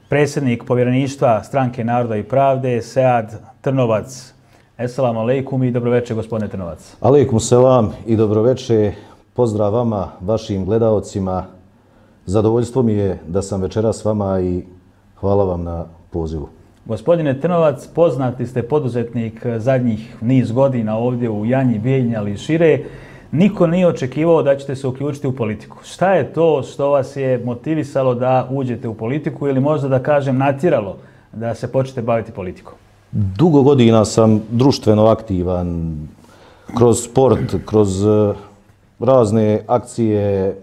predsjednik povjereništva Stranke naroda i pravde, Sead Trnovac. Esselamu alaikum i dobroveče, gospodine Trnovac. Alaikum selam i dobroveče. Pozdrav vama, vašim gledaocima. Zadovoljstvo mi je da sam večeras s vama i hvala vam na pozivu. Gospodine Trnovac, poznati ste poduzetnik zadnjih niz godina ovdje u Janji, Bijeljini, ali i šire. Niko nije očekivao da ćete se uključiti u politiku. Šta je to što vas je motivisalo da uđete u politiku ili možda da kažem natjeralo da se počnete baviti politikom? Dugo godina sam društveno aktivan, kroz sport, kroz razne akcije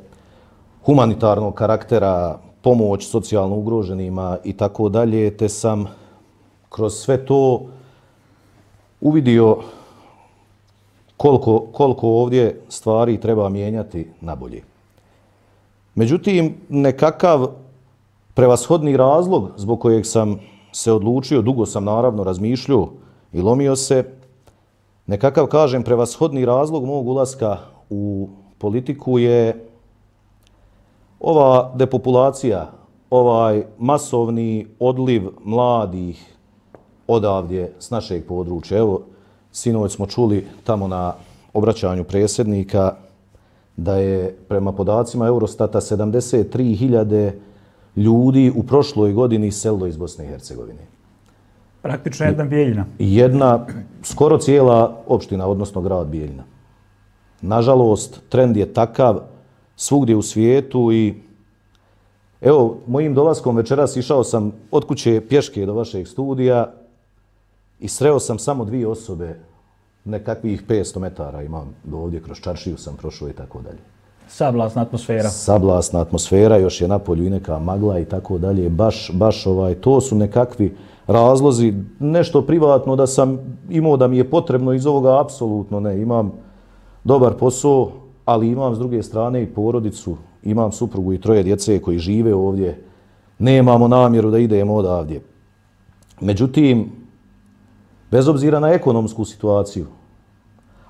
humanitarnog karaktera, pomoć socijalno ugroženima i tako dalje, te sam kroz sve to uvidio koliko ovdje stvari treba mijenjati na bolje. Međutim, nekakav prevashodni razlog zbog kojeg sam se odlučio, dugo sam naravno razmišljao i lomio se, nekakav, kažem, prevashodni razlog mog ulaska u politiku je ova depopulacija, ovaj masovni odliv mladih odavdje s našeg područja. Evo, sinoć smo čuli tamo na obraćanju predsjednika da je prema podacima Eurostata 73.000 ljudi u prošloj godini iselilo iz Bosne i Hercegovine. Praktično jedna Bijeljina. Jedna, skoro cijela opština, odnosno grad Bijeljina. Nažalost, trend je takav svugdje u svijetu i evo, mojim dolaskom večeras išao sam od kuće pješke do vašeg studija i sreo sam samo 2 osobe, nekakvih 500 metara imam do ovdje, kroz čaršiju sam prošao i tako dalje. Sablasna atmosfera. Sablasna atmosfera, još je napolju i neka magla i tako dalje. Baš to su nekakvi razlozi. Nešto privatno da sam imao da mi je potrebno iz ovoga, apsolutno ne. Imam dobar posao, ali imam s druge strane i porodicu. Imam suprugu i 3 djece koji žive ovdje. Nemamo namjeru da idemo odavdje. Međutim, bez obzira na ekonomsku situaciju,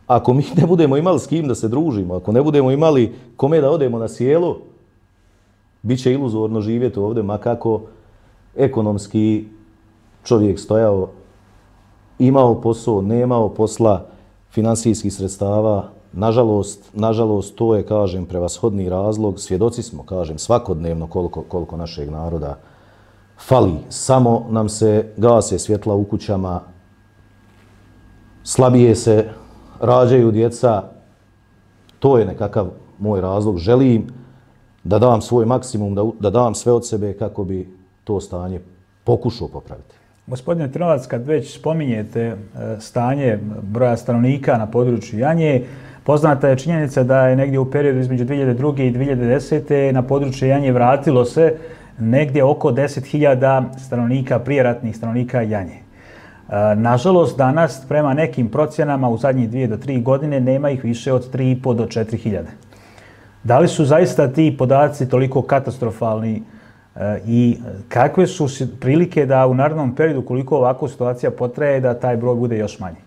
ako mi ne budemo imali s kim da se družimo, ako ne budemo imali kome da odemo na sjelo, bit će iluzorno živjeti ovdje, ma kako ekonomski čovjek stojao, imao posao, nemao posla, finansijskih sredstava. Nažalost, to je, kažem, prevashodni razlog. Svjedoci smo, kažem, svakodnevno koliko našeg naroda fali. Samo nam se gase svjetla u kućama, slabije se rađaju djeca. To je nekakav moj razlog. Želim da dam svoj maksimum, da dam sve od sebe kako bi to stanje pokušao popraviti. Gospodine Trnovac, kad već spominjete stanje broja stanovnika na području Janje, poznata je činjenica da je negdje u periodu između 2002. i 2010. na području Janje vratilo se negdje oko 10.000 stanovnika, prijeratnih stanovnika Janje. Nažalost, danas prema nekim procjenama u zadnjih 2 do 3 godine nema ih više od 3.500 do 4.000. Da li su zaista ti podaci toliko katastrofalni i kakve su prilike da u narednom periodu, koliko ovako situacija potraje, da taj broj bude još manji?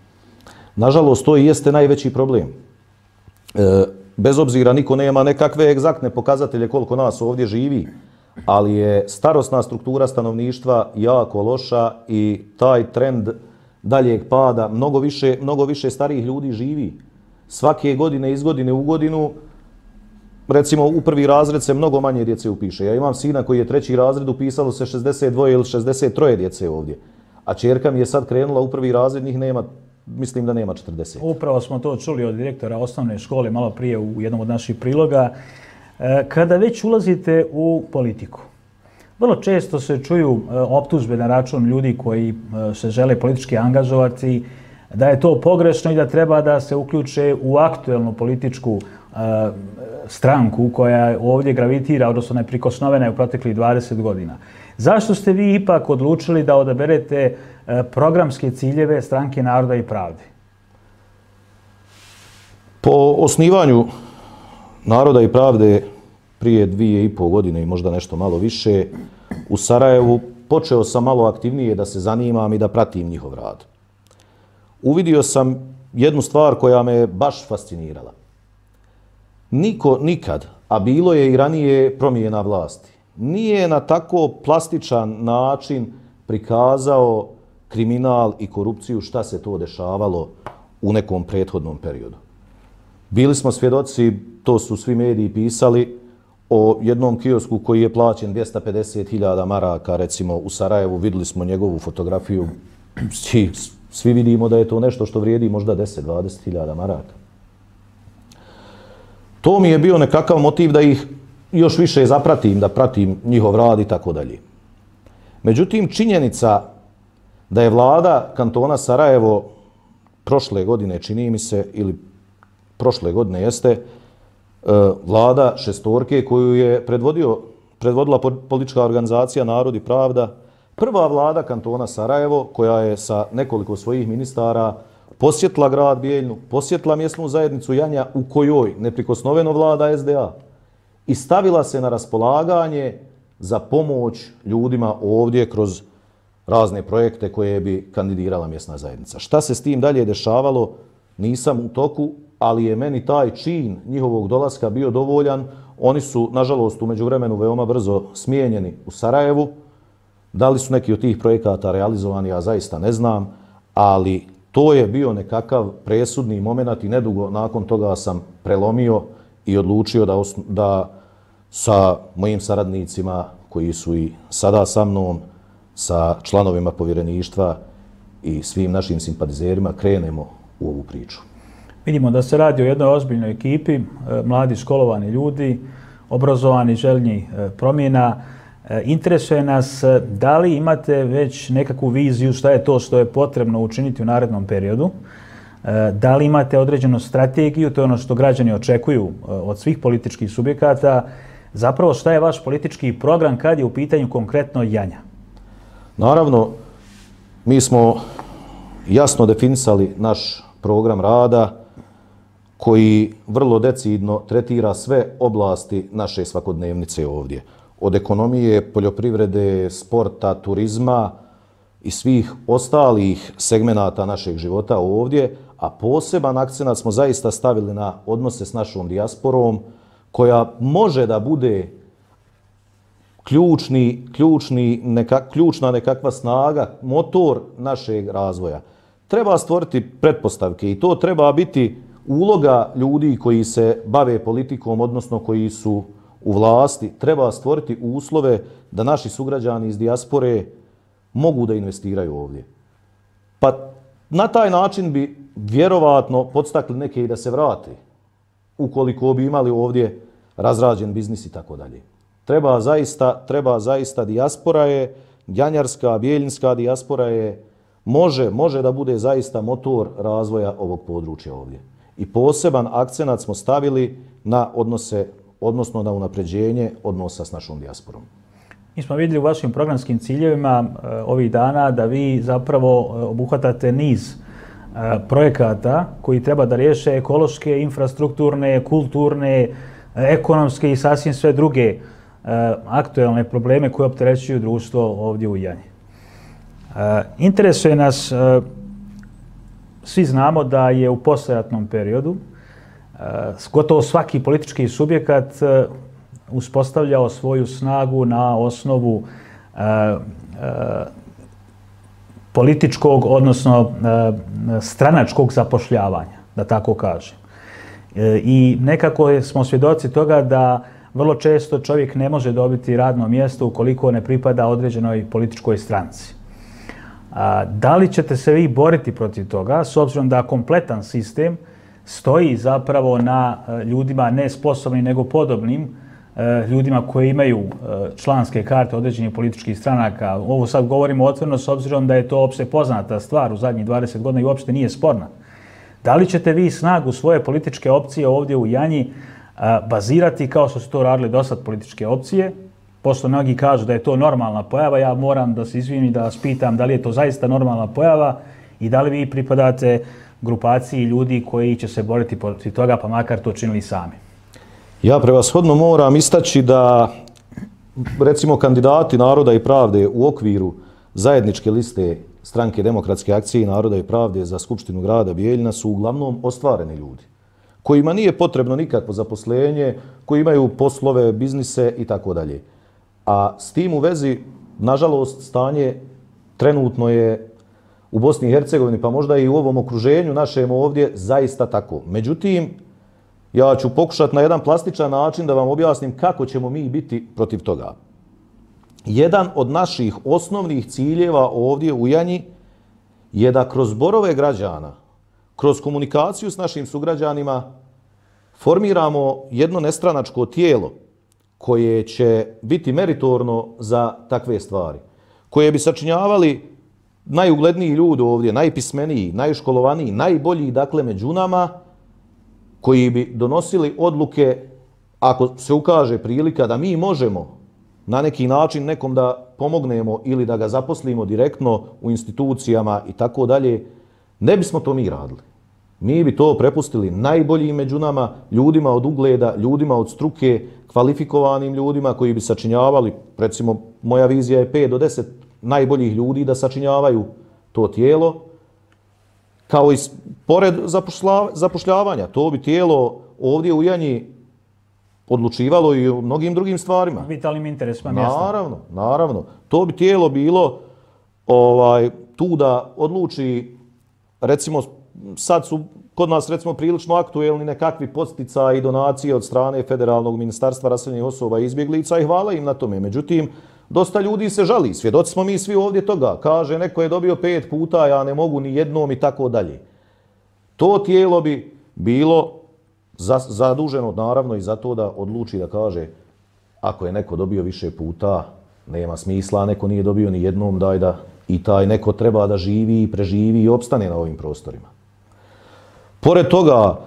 Nažalost, to i jeste najveći problem. Bez obzira, niko nema nekakve egzaktne pokazatelje koliko nas ovdje živi, ali je starosna struktura stanovništva jako loša i taj trend daljeg pada, mnogo više starijih ljudi živi. Svake godine, iz godine u godinu, recimo u 1. razred se mnogo manje djece upiše. Ja imam sina koji je 3. razred, upisalo se 62 ili 63 djece ovdje. A ćerka mi je sad krenula u 1. razred, njih nema, mislim da nema 40. Upravo smo to čuli od direktora osnovne škole malo prije u jednom od naših priloga. Kada već ulazite u politiku, vrlo često se čuju optužbe na račun ljudi koji se žele politički angažovati, da je to pogrešno i da treba da se uključe u aktuelnu političku stranku koja ovdje gravitira, odnosno neprikosnovena je u proteklih 20 godina. Zašto ste vi ipak odlučili da odaberete programske ciljeve Stranke naroda i pravde? Po osnivanju Naroda i pravde prije 2,5 godine i možda nešto malo više u Sarajevu počeo sam malo aktivnije da se zanimam i da pratim njihov rad. Uvidio sam jednu stvar koja me baš fascinirala. Niko nikad, a bilo je i ranije promjena vlasti, nije na tako plastičan način prikazao kriminal i korupciju, šta se to dešavalo u nekom prethodnom periodu. Bili smo svjedoci, to su svi mediji pisali, o jednom kiosku koji je plaćen 250.000 maraka, recimo u Sarajevu, vidjeli smo njegovu fotografiju, svi vidimo da je to nešto što vrijedi možda 10-20.000 maraka. To mi je bio nekakav motiv da ih još više zapratim, da pratim njihov rad i tako dalje. Međutim, činjenica da je vlada kantona Sarajevo prošle godine, čini mi se, ili prošle godine jeste, vlada šestorke koju je predvodila politička organizacija Narod i Pravda, prva vlada kantona Sarajevo koja je sa nekoliko svojih ministara posjetila grad Bijeljnu, posjetila mjesnu zajednicu Janja u kojoj neprikosnoveno vlada SDA i stavila se na raspolaganje za pomoć ljudima ovdje kroz razne projekte koje bi kandidirala mjesna zajednica. Šta se s tim dalje dešavalo, nisam u toku, ali je meni taj čin njihovog dolaska bio dovoljan. Oni su, nažalost, u međuvremenu veoma brzo smijenjeni u Sarajevu. Da li su neki od tih projekata realizovani, ja zaista ne znam, ali to je bio nekakav presudni moment i nedugo nakon toga sam prelomio i odlučio da sa mojim saradnicima koji su i sada sa mnom, sa članovima povjereništva i svim našim simpatizerima krenemo u ovu priču. Vidimo da se radi o jednoj ozbiljnoj ekipi, mladi školovani ljudi, obrazovani, željni promjena. Interesuje nas da li imate već nekakvu viziju šta je to što je potrebno učiniti u narednom periodu, da li imate određenu strategiju, to je ono što građani očekuju od svih političkih subjekata, zapravo šta je vaš politički program kad je u pitanju konkretno Janja? Naravno, mi smo jasno definisali naš program rada koji vrlo decidno tretira sve oblasti naše svakodnevnice ovdje. Od ekonomije, poljoprivrede, sporta, turizma i svih ostalih segmenata našeg života ovdje, a poseban akcenat smo zaista stavili na odnose s našom dijasporom, koja može da bude ključna nekakva snaga, motor našeg razvoja. Treba stvoriti pretpostavke i to treba biti uloga ljudi koji se bave politikom, odnosno koji su u vlasti. Treba stvoriti uslove da naši sugrađani iz dijaspore mogu da investiraju ovdje. Pa na taj način bi vjerovatno podstakli neke i da se vrate, ukoliko bi imali ovdje razrađen biznis i tako dalje. Treba zaista dijaspora je, janjarska, bijeljinska dijaspora je, može da bude zaista motor razvoja ovog područja ovdje. I poseban akcenat smo stavili na odnose, odnosno na unapređenje odnosa s našom dijasporom. Mi smo vidjeli u vašim programskim ciljevima ovih dana da vi zapravo obuhvatate niz projekata koji treba da riješe ekološke, infrastrukturne, kulturne, ekonomske i sasvim sve druge aktuelne probleme koje opterećuju društvo ovdje u Janji. Interesuje nas, svi znamo da je u poslijeratnom periodu gotovo svaki politički subjekat uspostavljao svoju snagu na osnovu političkog, odnosno stranačkog zapošljavanja, da tako kažem. I nekako smo svjedoci toga da vrlo često čovjek ne može dobiti radno mjesto ukoliko ne pripada određenoj političkoj stranci. Da li ćete se vi boriti protiv toga, s obzirom da kompletan sistem stoji zapravo na ljudima ne sposobnim nego podobnim, ljudima koji imaju članske karte određenih političkih stranaka? Ovo sad govorimo otvoreno s obzirom da je to opšte poznata stvar u zadnjih 20 godina i uopšte nije sporna. Da li ćete vi snagu svoje političke opcije ovdje u Janji bazirati kao što su to radili dosad političke opcije? Pošto mnogi kažu da je to normalna pojava, ja moram da se izvinim i da vas pitam da li je to zaista normalna pojava i da li vi pripadate grupaciji ljudi koji će se boriti protiv toga, pa makar to činili sami. Ja prevashodno moram istaći da, recimo, kandidati Naroda i Pravde u okviru zajedničke liste Stranke demokratske akcije i Naroda i Pravde za Skupštinu grada Bijeljina su uglavnom ostvareni ljudi, kojima nije potrebno nikakvo zaposlenje, koji imaju poslove, biznise i tako dalje. A s tim u vezi, nažalost, stanje trenutno je u Bosni i Hercegovini, pa možda i u ovom okruženju našem ovdje, zaista tako. Međutim, ja ću pokušati na jedan plastičan način da vam objasnim kako ćemo mi biti protiv toga. Jedan od naših osnovnih ciljeva ovdje u Janji je da kroz zborove građana, kroz komunikaciju s našim sugrađanima, formiramo jedno nestranačko tijelo koje će biti meritorno za takve stvari, koje bi sačinjavali najugledniji ljudi ovdje, najpismeniji, najškolovaniji, najbolji, dakle, među nama, koji bi donosili odluke, ako se ukaže prilika da mi možemo na neki način nekom da pomognemo ili da ga zaposlimo direktno u institucijama i tako dalje, ne bismo to mi radili. Mi bi to prepustili najboljim među nama, ljudima od ugleda, ljudima od struke, kvalifikovanim ljudima koji bi sačinjavali, recimo moja vizija je 5 do 10 najboljih ljudi da sačinjavaju to tijelo, kao i pored zapošljavanja. To bi tijelo ovdje u Janji odlučivalo i o mnogim drugim stvarima. Vitalnim interesima mjesta. Naravno. To bi tijelo bilo tu da odluči, recimo, sad su kod nas recimo prilično aktuelni nekakvi podsticaji i donacije od strane Federalnog ministarstva raseljenih osoba i izbjeglica i hvala im na tome. Međutim, dosta ljudi se žali, svjedoci smo mi svi ovdje toga. Kaže, neko je dobio 5 puta, ja ne mogu ni jednom i tako dalje. To tijelo bi bilo zaduženo naravno i za to da odluči da kaže ako je neko dobio više puta, nema smisla, neko nije dobio ni jednom, daj da i taj neko treba da živi i preživi i opstane na ovim prostorima. Pored toga,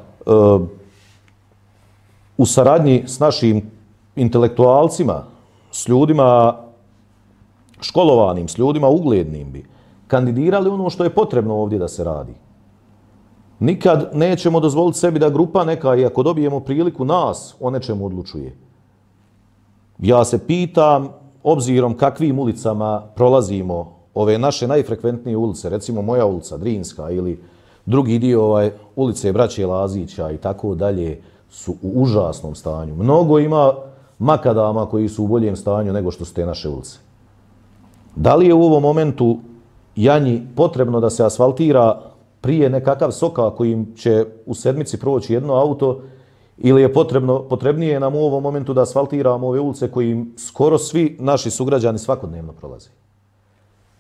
u saradnji s našim intelektualcima, s ljudima školovanim, s ljudima uglednim bi kandidirali ono što je potrebno ovdje da se radi. Nikad nećemo dozvoliti sebi da grupa neka, i ako dobijemo priliku nas, o nečemu odlučuje. Ja se pitam, obzirom kakvim ulicama prolazimo ove naše najfrekventnije ulice, recimo moja ulica Drinska ili drugi dio ulice Braće Lazića i tako dalje, su u užasnom stanju. Mnogo ima makadama koji su u boljem stanju nego što su te naše ulice. Da li je u ovom momentu Janji potrebno da se asfaltira prije nekakav soka kojim će u sedmici proći jedno auto, ili je potrebnije nam u ovom momentu da asfaltiramo ove ulice kojim skoro svi naši sugrađani svakodnevno prolaze?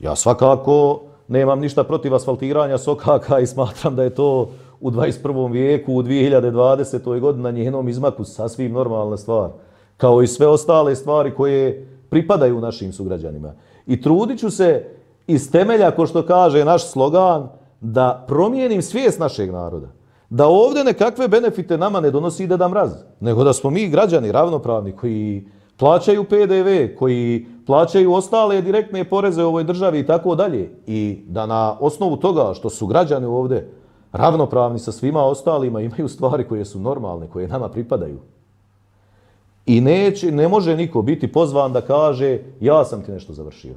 Ja svakako nemam ništa protiv asfaltiranja sokaka i smatram da je to u 21. vijeku, u 2020. godini na njenom izmaku sasvim normalna stvar. Kao i sve ostale stvari koje pripadaju našim sugrađanima. I trudit ću se iz temelja, ko što kaže naš slogan, da promijenim svijest našeg naroda. Da ovdje nekakve benefite nama ne donosi Deda Mraz, nego da smo mi građani ravnopravni koji plaćaju PDV, koji plaćaju ostale direktne poreze u ovoj državi i tako dalje. I da na osnovu toga što su građani ovdje ravnopravni sa svima ostalima imaju stvari koje su normalne, koje nama pripadaju. I ne može niko biti pozvan da kaže ja sam ti nešto završio.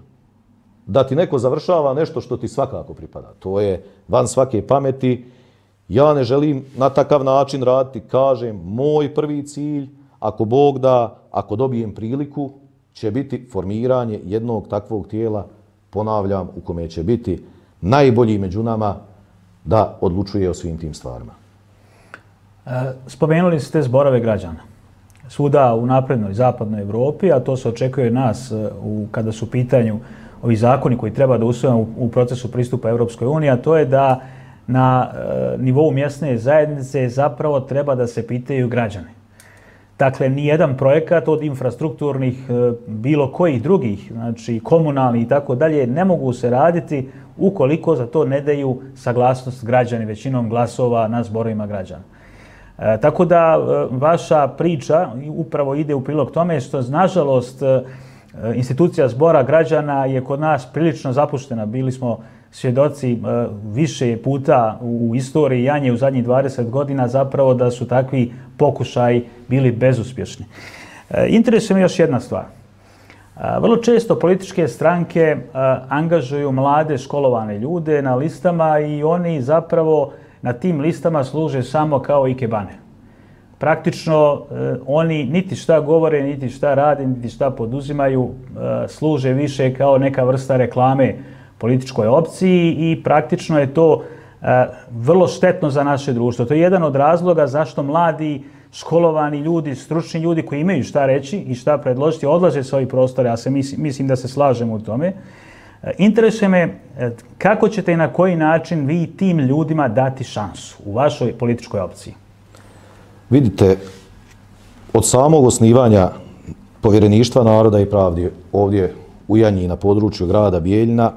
Da ti neko završava nešto što ti svakako pripada. To je van svake pameti. Ja ne želim na takav način raditi. Kažem, moj prvi cilj, ako Bog da, ako dobijem priliku, će biti formiranje jednog takvog tijela, ponavljam, u kome će biti najbolji među nama da odlučuje o svim tim stvarima. Spomenuli ste zborove građana. Svuda u naprednoj zapadnoj Evropi, a to se očekuje nas kada su u pitanju ovi zakoni koji treba da usvojimo u procesu pristupa Evropskoj uniji, a to je da na nivou mjesne zajednice zapravo treba da se pitaju građani. Dakle, nijedan projekat od infrastrukturnih, bilo kojih drugih, znači komunalnih i tako dalje, ne mogu se raditi ukoliko za to ne daju saglasnost građani većinom glasova na zborovima građana. Tako da vaša priča upravo ide u prilog tome što, nažalost, institucija zbora građana je kod nas prilično zapuštena. Bili smo svjedoci više puta u istoriji Janje u zadnjih 20 godina zapravo da su takvi pokušaji bili bezuspješni. Interesuje me još jedna stvar. Vrlo često političke stranke angažuju mlade školovane ljude na listama i oni zapravo na tim listama služe samo kao ikebane. praktično oni niti šta govore, niti šta rade, niti šta poduzimaju, služe više kao neka vrsta reklame političkoj opciji i praktično je to vrlo štetno za naše društvo. To je jedan od razloga zašto mladi, školovani ljudi, stručni ljudi koji imaju šta reći i šta predložiti, odlaze sa ovih prostora. Ja mislim da se slažemo u tome. Interesuje me kako ćete i na koji način vi tim ljudima dati šansu u vašoj političkoj opciji? Vidite, od samog osnivanja Povjereništva naroda i pravde ovdje u Janji na području grada Bijeljina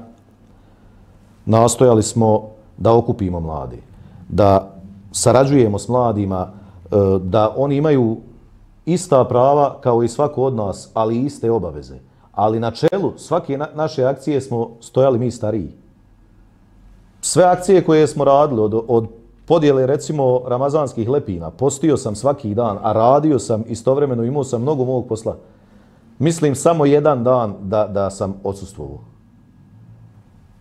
nastojali smo da okupimo mlade, da sarađujemo s mladima, da oni imaju ista prava kao i svako od nas, ali i iste obaveze. Ali na čelu svake naše akcije smo stojali mi stariji. Sve akcije koje smo radili, od podjele recimo ramazanskih lepina, postio sam svaki dan, a radio sam istovremeno, imao sam mnogo mog posla. Mislim samo jedan dan da sam odsustvovao.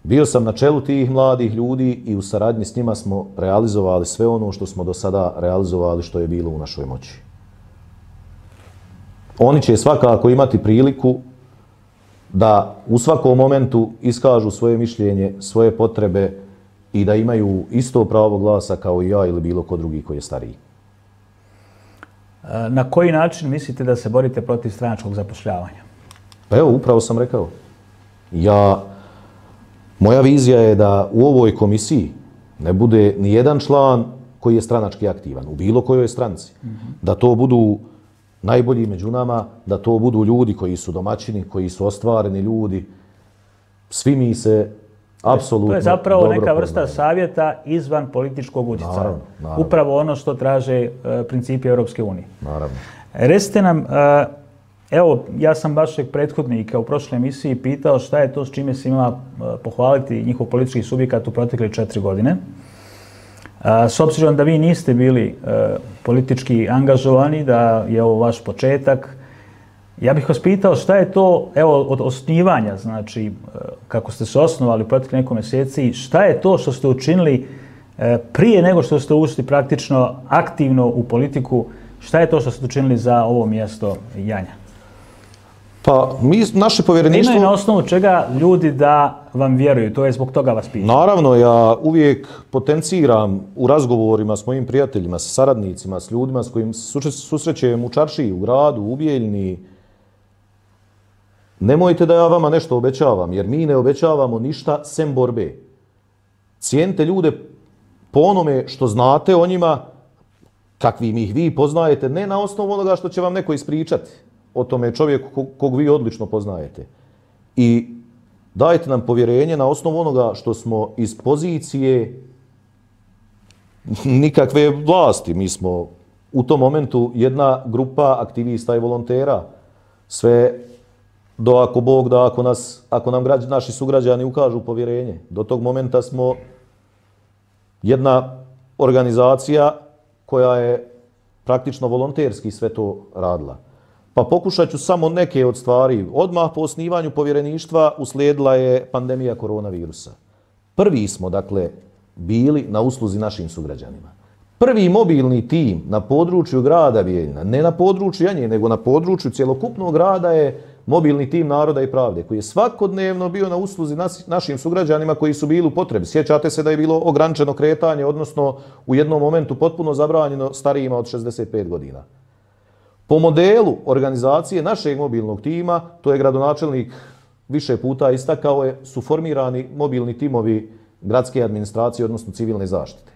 Bio sam na čelu tih mladih ljudi i u saradnji s njima smo realizovali sve ono što smo do sada realizovali što je bilo u našoj moći. Oni će svakako imati priliku da u svakom momentu iskažu svoje mišljenje, svoje potrebe i da imaju isto pravo glasa kao i ja ili bilo ko drugi koji je stariji. Na koji način mislite da se borite protiv stranačkog zapošljavanja? Pa evo, upravo sam rekao. Moja vizija je da u ovoj komisiji ne bude ni jedan član koji je stranački aktivan, u bilo kojoj stranci. Da to budu najbolji među nama, da to budu ljudi koji su domaćini, koji su ostvareni ljudi. Svi mi se apsolutno... To je zapravo neka vrsta savjeta izvan političkog utjecaja. Naravno. Upravo ono što traže principi Europske unije. Naravno. Recite nam, evo, ja sam vašeg prethodnika u prošloj emisiji pitao šta je to s čime se ima pohvaliti njihov politički subjekat u protekle 4 godine. S obzirom da vi niste bili politički angažovani, da je ovo vaš početak, ja bih vas pitao šta je to, evo, od osnivanja, znači kako ste se osnovali u protekle nekoliko mjeseci, šta je to što ste učinili prije nego što ste ušli praktično aktivno u politiku, šta je to što ste učinili za ovo mjesto Janja? Pa, naše povjereništvo... Imaju na osnovu čega ljudi da vam vjeruju, to je zbog toga vas pitam. Naravno, ja uvijek potenciram u razgovorima s mojim prijateljima, sa saradnicima, s ljudima s kojim se susrećem u čaršiji, u gradu, u Bijeljini. Nemojte da ja vama nešto obećavam, jer mi ne obećavamo ništa sem borbe. Cijenite ljude po onome što znate o njima, kakvim ih vi poznajete, ne na osnovu onoga što će vam neko ispričati o tome čovjeku kog vi odlično poznajete. I dajte nam povjerenje na osnovu onoga što smo iz pozicije nikakve vlasti. Mi smo u tom momentu jedna grupa aktivista i volontera. Sve do ako Bog da, ako nam naši sugrađani ukažu povjerenje. Do tog momenta smo jedna organizacija koja je praktično volonterski sve to radila. Pa pokušat ću samo neke od stvari. Odmah po osnivanju povjereništva uslijedila je pandemija koronavirusa. Prvi smo, dakle, bili na usluzi našim sugrađanima. Prvi mobilni tim na području grada Bijeljina, ne na području Janje, nego na području cjelokupnog grada je mobilni tim Naroda i pravde, koji je svakodnevno bio na usluzi našim sugrađanima koji su bili u potrebi. Sjećate se da je bilo ograničeno kretanje, odnosno u jednom momentu potpuno zabranjeno starijima od 65 godina. Po modelu organizacije našeg mobilnog tima, to je gradonačelnik više puta istakao, su formirani mobilni timovi gradske administracije, odnosno civilne zaštite.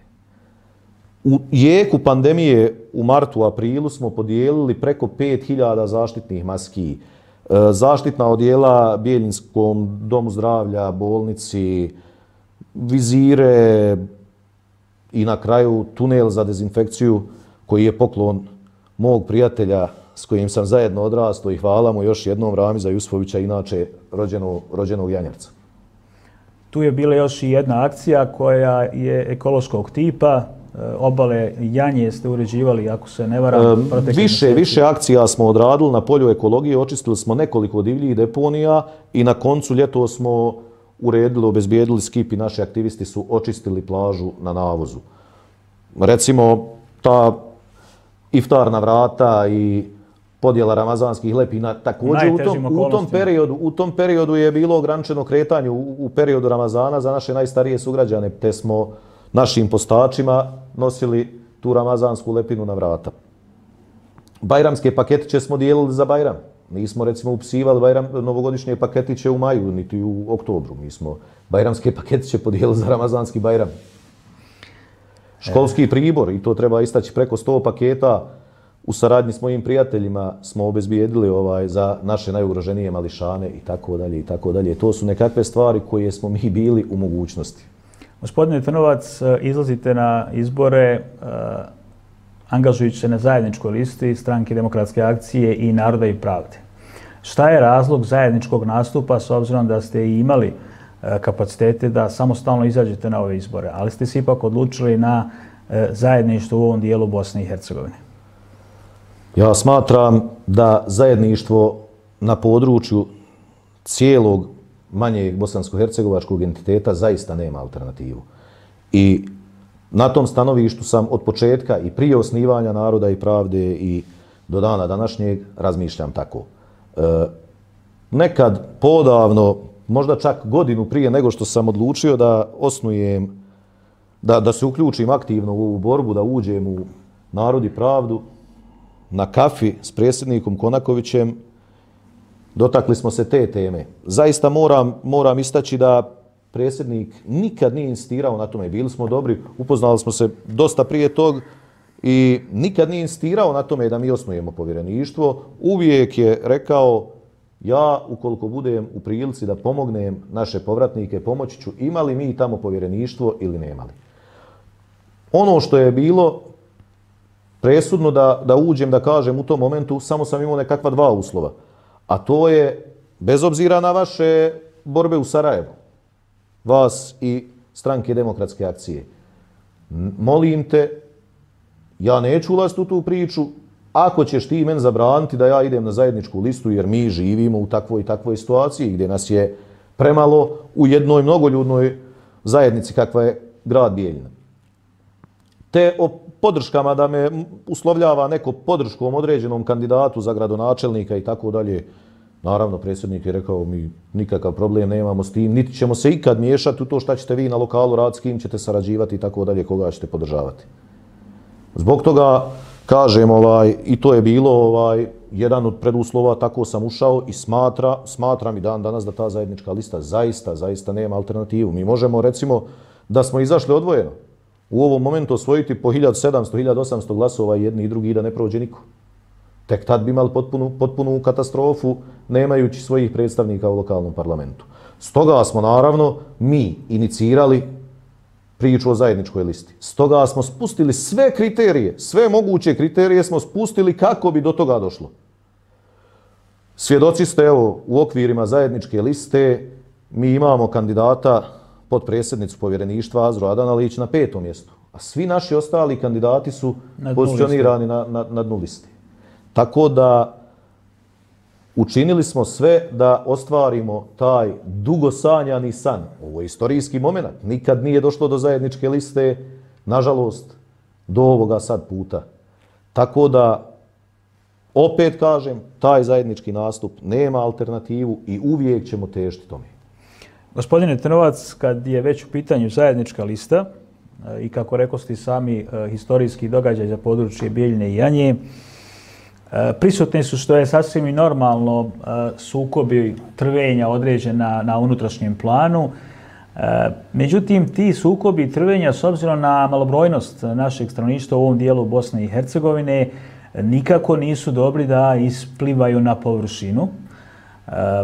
U jeku pandemije u martu, aprilu smo podijelili preko 5000 zaštitnih maski, zaštitna odjela Bijeljinskom domu zdravlja, bolnici, vizire i na kraju tunel za dezinfekciju koji je poklon mog prijatelja s kojim sam zajedno odrastao i hvala mu još jednom Ramiza Jusfovića, inače rođenog Janjarca. Tu je bila još i jedna akcija koja je ekološkog tipa. Obale Janje ste uređivali, ako se ne varam. Više akcija smo odradili na polju ekologije, očistili smo nekoliko divljih deponija i na koncu ljeto smo uredili, obezbijedili skip i naši aktivisti su očistili plažu na navozu. Recimo, ta iftar na vrata i podjela ramazanskih lepina. Također u tom periodu je bilo ograničeno kretanje u periodu Ramazana za naše najstarije sugrađane, te smo našim postačima nosili tu ramazansku lepinu na vrata. Bajramske paketiće smo dijelili za Bajram. Nismo recimo upisivali novogodišnje paketiće u maju, niti u oktobru. Mi smo bajramske paketiće podijelili za ramazanski Bajram. Školski pribor, i to treba istaći, preko 100 paketa u saradnji s mojim prijateljima smo obezbijedili za naše najugroženije mališane i tako dalje i tako dalje. To su nekakve stvari koje smo mi bili u mogućnosti. Gospodine Trnovac, izlazite na izbore angažujući se na zajedničkoj listi Stranke demokratske akcije i Naroda i pravde. Šta je razlog zajedničkog nastupa s obzirom da ste i imali kapacitete da samostalno izađete na ove izbore, ali ste se ipak odlučili na zajedništvo u ovom dijelu Bosne i Hercegovine? Ja smatram da zajedništvo na području cijelog manjeg bosansko-hercegovačkog entiteta zaista nema alternativu. I na tom stanovištu sam od početka i prije osnivanja Naroda i pravde i do dana današnjeg razmišljam tako. Nekad podavno, možda čak godinu prije nego što sam odlučio da osnujem, da se uključim aktivno u ovu borbu, da uđem u Narod i pravdu, na kafi s predsjednikom Konakovićem, dotakli smo se te teme. Zaista moram istaći da predsjednik nikad nije insistirao na tome. Bili smo dobri, upoznali smo se dosta prije tog i nikad nije insistirao na tome da mi osnujemo povjereništvo. Uvijek je rekao, ja ukoliko budem u prilici da pomognem naše povratnike, pomoći ću, imali mi tamo povjereništvo ili nemali. Ono što je bilo presudno da uđem, da kažem u tom momentu, samo sam imao nekakva dva uslova. A to je, bez obzira na vaše borbe u Sarajevu, vas i Stranke demokratske akcije, molim te, ja neću ulaziti u tu priču, ako ćeš ti meni zabraniti da ja idem na zajedničku listu, jer mi živimo u takvoj i takvoj situaciji gdje nas je premalo u jednoj mnogoljudnoj zajednici kakva je grad Bijeljina. Te o podrškama da me uslovljava neko podrškom određenom kandidatu za gradonačelnika i tako dalje, naravno, predsjednik je rekao, mi nikakav problem nemamo s tim, niti ćemo se ikad miješati u to šta ćete vi na lokalu raditi, s kim ćete sarađivati i tako dalje, koga ćete podržavati. Zbog toga, kažem, i to je bilo jedan od preduslova, tako sam ušao i smatram i dan danas da ta zajednička lista zaista nema alternativu. Mi možemo, recimo, da smo izašli odvojeno, u ovom momentu osvojiti po 1700-1800 glasova jedni i drugi da ne prođe niko. Tek tad bi imali potpunu katastrofu nemajući svojih predstavnika u lokalnom parlamentu. Stoga smo naravno mi inicirali priču o zajedničkoj listi. Stoga smo spustili sve kriterije, sve moguće kriterije smo spustili kako bi do toga došlo. Svjedoci ste, evo, u okvirima zajedničke liste mi imamo kandidata potpredsjednicu povjereništva Azru Adanalić na 5. mjestu, a svi naši ostali kandidati su pozicionirani na dnu liste. Tako da učinili smo sve da ostvarimo taj dugo sanjani san. Ovo je istorijski moment. Nikad nije došlo do zajedničke liste, nažalost, do ovoga sad puta. Tako da, opet kažem, taj zajednički nastup nema alternativu i uvijek ćemo težiti tome. Gospodine Trnovac, kad je već u pitanju zajednička lista i kako rekosti sami historijski događaj za područje Bijeljine i Janje, prisutni su, što je sasvim i normalno, sukobi, trvenja određena na unutrašnjem planu. Međutim, ti sukobi i trvenja, s obzirom na malobrojnost našeg stanovništva u ovom dijelu Bosne i Hercegovine, nikako nisu dobri da isplivaju na površinu.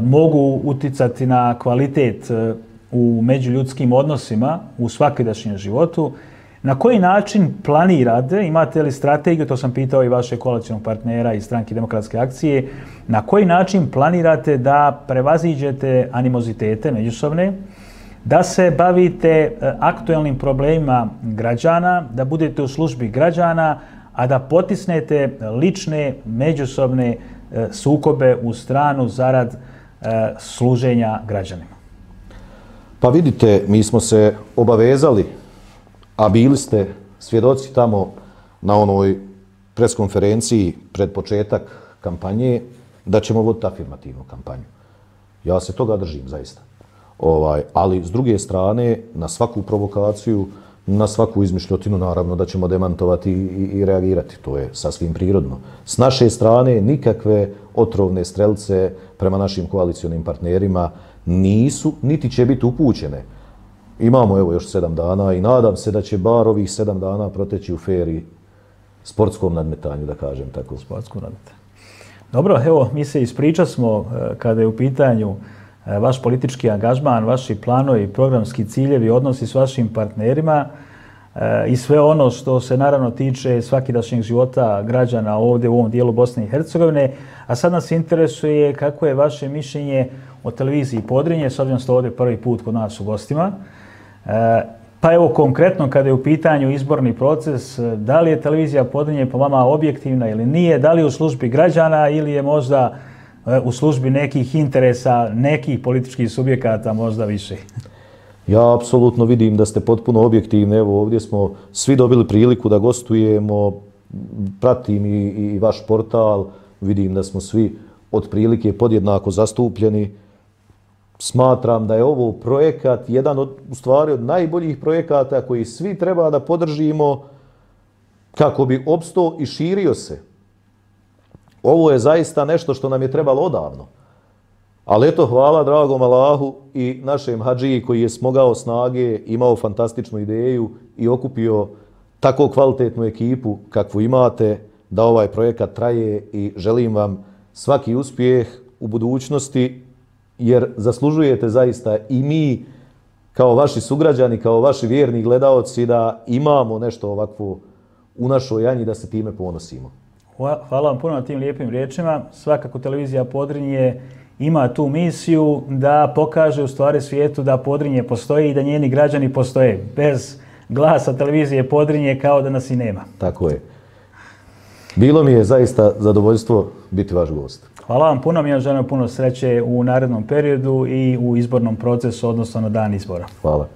Mogu uticati na kvalitet u međuljudskim odnosima u svakidašnjem životu. Na koji način planirate, imate li strategiju, to sam pitao i vašeg koalicionog partnera iz Stranke demokratske akcije, na koji način planirate da prevaziđete animozitete međusobne, da se bavite aktuelnim problemima građana, da budete u službi građana, a da potisnete lične, međusobne sukobe u stranu zarad služenja građanima? Pa vidite, mi smo se obavezali, a bili ste svjedoci tamo na onoj preskonferenciji pred početak kampanje da ćemo voditi afirmativnu kampanju. Ja se toga držim zaista. Ali s druge strane, na svaku provokaciju, na svaku izmišljotinu, naravno da ćemo demantovati i reagirati. To je sasvim prirodno. S naše strane nikakve otrovne strelce prema našim koalicionim partnerima nisu, niti će biti upućene. Imamo evo još 7 dana i nadam se da će bar ovih 7 dana proteći u feri sportskom nadmetanju, da kažem tako. Sportskom nadmetanju. Dobro, evo, mi se ispričasmo kada je u pitanju vaš politički angažman, vaši planovi, programski ciljevi, odnosi s vašim partnerima i sve ono što se naravno tiče svakidašnjeg života građana ovdje u ovom dijelu Bosne i Hercegovine. A sad nas interesuje kako je vaše mišljenje o televiziji Podrinje, s obzirom ste ovdje prvi put kod nas u gostima. Pa evo konkretno kada je u pitanju izborni proces, da li je televizija Podrinje po vama objektivna ili nije, da li je u službi građana ili je možda u službi nekih interesa, nekih političkih subjekata možda više? Ja apsolutno vidim da ste potpuno objektivni. Evo ovdje smo svi dobili priliku da gostujemo, pratim i vaš portal, vidim da smo svi otprilike podjednako zastupljeni. Smatram da je ovo projekat, jedan od, u stvari, od najboljih projekata koji svi treba da podržimo kako bi opstao i širio se. Ovo je zaista nešto što nam je trebalo odavno. Ali eto, hvala dragom Allahu i našem hadžiji koji je smogao snage, imao fantastičnu ideju i okupio tako kvalitetnu ekipu kakvu imate, da ovaj projekat traje i želim vam svaki uspjeh u budućnosti, jer zaslužujete zaista i mi kao vaši sugrađani, kao vaši vjerni gledaoci da imamo nešto ovakvo u našoj Janji, da se time ponosimo. Hvala vam puno na tim lijepim riječima. Svakako televizija Podrinje ima tu misiju da pokaže u stvari svijetu da Podrinje postoji i da njeni građani postoje. Bez glasa televizije Podrinje kao da nas i nema. Tako je. Bilo mi je zaista zadovoljstvo biti vaš gost. Hvala vam puno, mi vam želim puno sreće u narednom periodu i u izbornom procesu, odnosno na dan izbora. Hvala.